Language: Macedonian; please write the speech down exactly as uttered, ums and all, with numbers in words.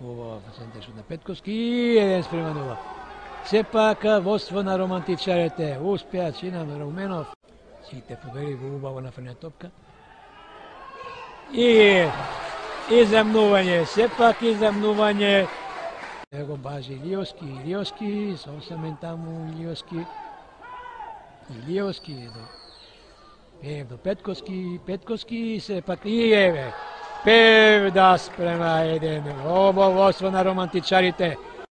Ова центар шут на Петковски, еден спрема нула. Сепак водство на романтичарите, успеа Чинам Руменов. Сите побери во убаво нафрена топка. И иземнување, сепак иземнување. Его бажи Илиовски, Илиовски, совсем таму Илиовски. Илиовски до Пев до Петковски, Петковски сепак и еве. Пев да спрема еден. Ово водство на романтичарите.